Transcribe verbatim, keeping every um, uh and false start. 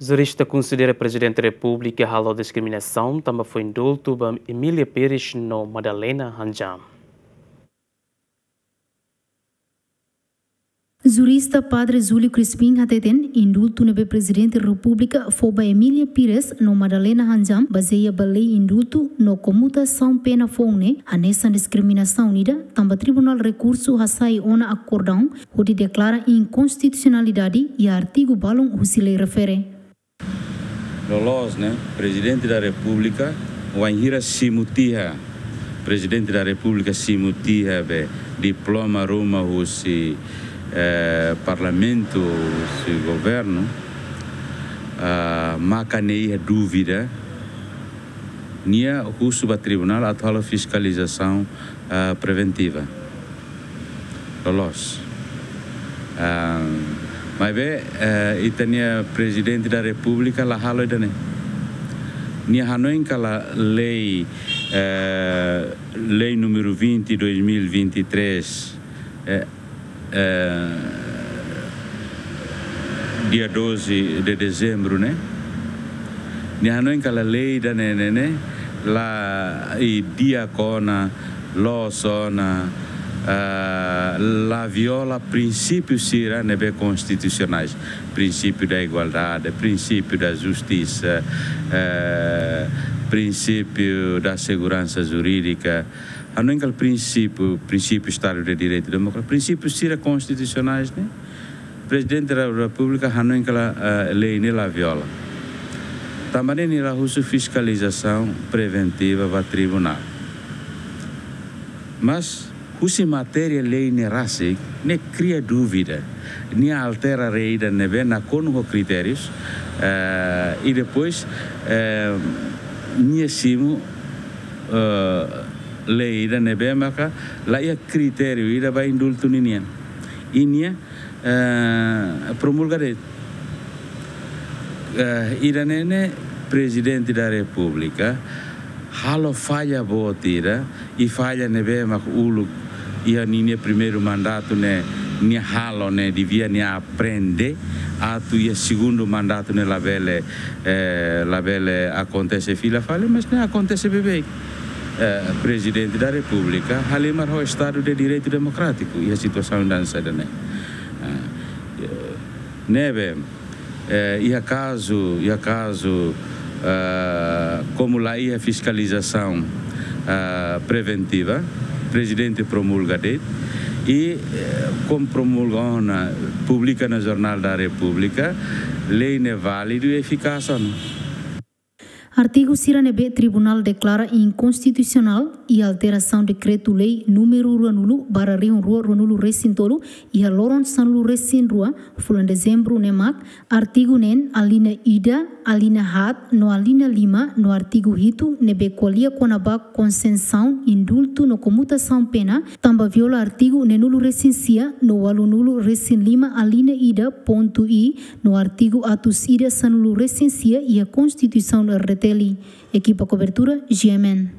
Jurista konsidera Prezidente Repúblika halo diskriminasaun tanba fó indultu ba Emília Pires no Madalena Handjam. Jurista Padre Júlio Crispim hateten indultu ne'ebé Prezidente Repúblika fó ba Emília Pires no Madalena Handjam bazeia ba lei indultu no komutasaun pena foun ne'e hanesan diskriminasaun ida tanba Tribunál Rekursu hasai ona akordaun hodi deklara inkonstitusionalidade iha artigu balun husi lei refere. Loloos ne'e, Prezidente da Repúblika, wainhira simu tiha, Prezidente da Repúblika simu tiha be diploma ruma husi, eh, Parlamentu, husi Governu, ah, maka nia iha dúvida, nia husu ba tribunál atu halo fiskalizasaun, ah, preventiva. Loloos. Ah, maibé, eh, ita-nia Prezidente da Repúblika la halo ida-ne'e. Nia hanoin katak lei, eh, lei número vinte, dois mil e vinte e três, eh, eh, dia doze de dezembro, ne'e? Nia hanoin katak lei ida-ne'e, ne'e, ne'e, la iha di'ak ona, loos ona, ah, la viola prinsípiu sira ne'ebé konstitusionais. Princípio da igualdade, princípio da justiça, eh, princípio da segurança jurídica. Hanoin katak prinsípiu, prinsípiu Estado de Direito Democrático, prinsípiu sira konstitusionais ne'e, Prezidente da Repúblika hanoin katak, eh, lei ne'e la viola. Tanba ne'e nia la husu fiskalizasaun preventiva ba tribunál. Mas, husi matéria lei ne'e rasik, ne'e kria dúvida. Nia altera lei ida ne'ebé nakonu ho kritériu, eh, i depois, eh, nia simu, eh, lei ida ne'ebé maka la iha kritériu ida ba indultu ninian. I nia, eh, promulga de'it. Eh, ida-ne'e ne'e Prezidente da Repúblika halo falla boot ida, i falla ne'ebé mak uluk iha ninia primeiru mandatu ne'e nia halo ne'e devia nia aprende, atu iha segundu mandatu ne'e labele, eh, labele akontese fila fali, mas ne'e akontese beibeik. Eh, Prezidente da Repúblika halimar ho Estado de Direito Democrático iha situasaun hanesan ida-ne'e. Eh, ne'ebé, eh, iha kazu, iha kazu, eh, komu la iha fiskalizasaun, eh, preventiva, Prezidente promulga de'it, i, eh, komu promulga ona, publika iha Jornál da Repúblika, lei ne'e válidu i efikás ona. Artigu sira ne'ebé tribunál deklara inkonstitusionál i alterasaun dekretu-lei númeru ruanulu barra rihun rua ruanulu-resin-tolu iha loron sanulu-resin-rua fulan Dezembru ne'e mak: artigu neen, alínea ida, alínea haat no alínea lima no artigu hitu ne'ebé ko'alia kona-ba konsesaun, indultu no komutasaun pena, tanba viola artigu neenulu-resin-sia no ualunulu-resin-lima alínea ida pontu i no artigu atus ida sanulu-resin-sia iha Konstituisaun R D T L. Ekipa kobertura, G M N.